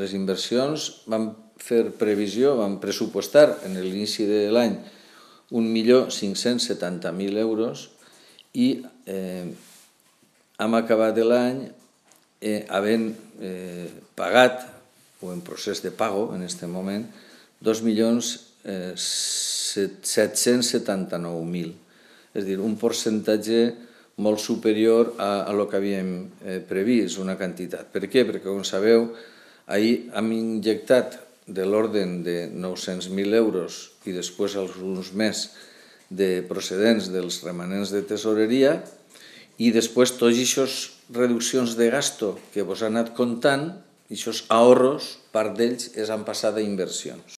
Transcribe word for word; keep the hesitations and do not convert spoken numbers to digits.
Les inversions vam fer previsió, vam pressupostar en l'inici de l'any un milió cinc-cents setanta mil euros i eh, hem acabat l'any eh, havent eh, pagat, o en procés de pago en aquest moment, dos milions set-cents setanta-nou mil. És a dir, un percentatge molt superior a, a lo que havíem eh, previst, una quantitat. Per què? Perquè, com sabeu, ahir hem injectat de l'ordre de nou-cents mil euros i després alguns més de procedents dels remanents de tesoreria i després tots aquestes reduccions de gasto que vos han anat comptant, aquests ahorros, part d'ells es han passat a inversions.